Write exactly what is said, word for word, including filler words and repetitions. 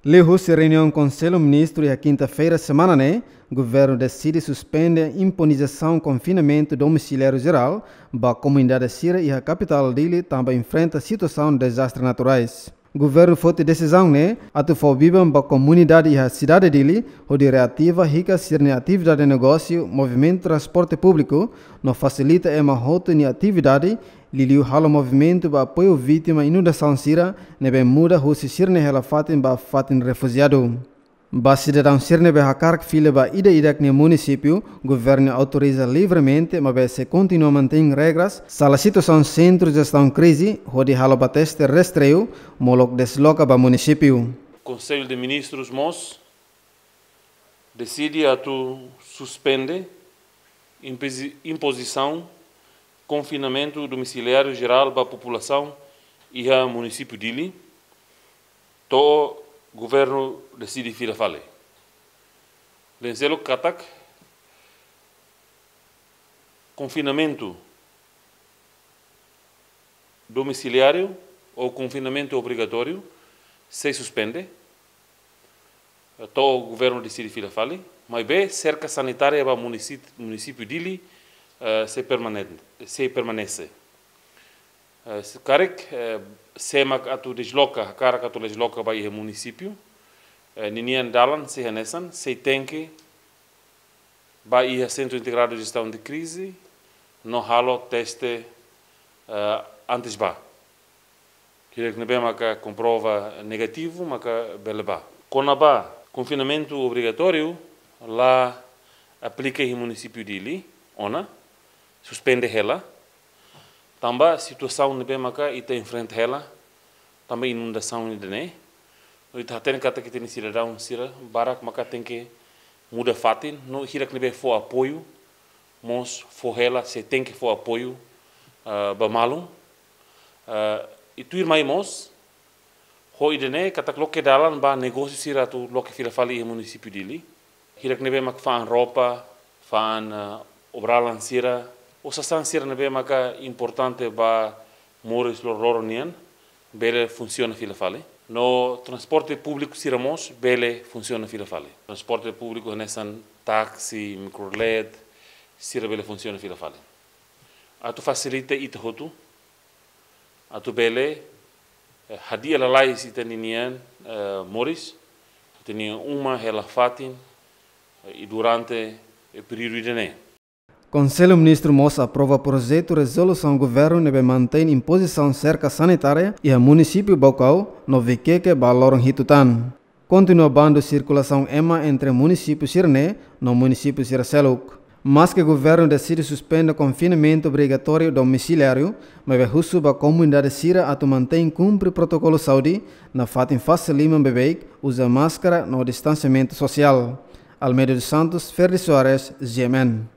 Liuhusi reuniaun Konsellu Ministru iha kinta-feira semana ne'e, governu deside suspende imponizasaun konfinamentu domisiliáriu jerál ba komunidade sira iha kapitál Dili tanba enfrenta situasaun dezastre naturais. Governu foti desizaun ne'e atu fó biban ba komunidade iha sidade Dili hodi reativa hikas sira-nia atividade negósiu, movimentu transporte públiku, no fasilita ema hotu nia atividade, liuliu halo movimentu ba apoiu vítima inundasaun sira ne'ebé muda husi sira-nia hela-fatin ba fatin refujiadu. Ba sidadaun sira ne'ebé hakarak fila ba ida-idak nia munisípiu, governu autoriza livremente, maibé sei kontinua mantein regras sala situasaun sentru jestaun krize, hodi halo ba teste rastreiu, molok desloka ba munisípiu. Konsellu de Ministrus mós deside atu suspende impozi-, impozisaun konfinamentu domisiliáriu jerál ba populasaun iha munisípiu Dili, to'o governu deside fila fali. La'en seluk katak konfinamentu domisiliáriu ou konfinamentu obrigatóriu sei suspende, to'o governu deside fila fali, maibé serka sanitária ba munisi-, munisípiu Dili, eh, sei permane-, sei permanese. Eh, se karik, eh, sé mak atu desloka, hakarak atu desloka ba iha munisípiu, eh, ninian dalan sei hanesan, sei tenke ba iha Sentru Integradu Jestaun de Krize, no halo teste, eh, antes ba. Hirak ne'ebé maka komprova negativu, maka bele ba. Kona-ba konfinamentu obrigatóriu, la aplika iha munisípiu Dili, ona, suspende hela, tanba situasaun ne'ebé maka ita enfrenta hela, tanba inundasaun ida-ne'e. No ita hatene katak ita-nia sidadaun sira barak maka tenke muda fatin, no hirak ne'ebé fó apoiu, mós fó hela, sei tenke fó apoiu, ah, ba malu. Ah, i tuirmai mós, ho ida-ne'e katak loke dalan ba negósiu sira atu loke fila fali iha munisípiu Dili. Hirak ne'ebé mak fa'an roupa, fa'an, ah, obralan sira, ou sasán sira ne'ebé maka importante ba moris loroloron nian, bele funsiona fila fali. No transporte públiku sira mós bele funsiona fila fali. Transporte públiku hanesan táksi, mikrolet, sira bele funsiona fila fali. Atu fasilita ita hotu, atu bele, eh, hadi'a lalais ita-nian, eh, moris, ita-nia uma, hela-fatin, eh, i durante, eh, períodu ida-ne'e. Konsellu Ministru mós aprova projetu rezolusaun governu ne'ebé mantein impozisaun serka sanitária iha munisípiu Baucau no Viqueque ba loron hitu tan. Kontinua bandu sirkulasaun ema entre munisípiu sira-ne'e no munisípiu sira seluk. Maske governu deside suspende konfinamentu obrigatóriu domisiliáriu, maibé husu ba komunidade sira atu mantein kumpre protokolu saúde, nafatin fase liman beibeik, uza máskara no distansiamentu sosiál. Almeida dos Santos, Ferdi Soares, G M N.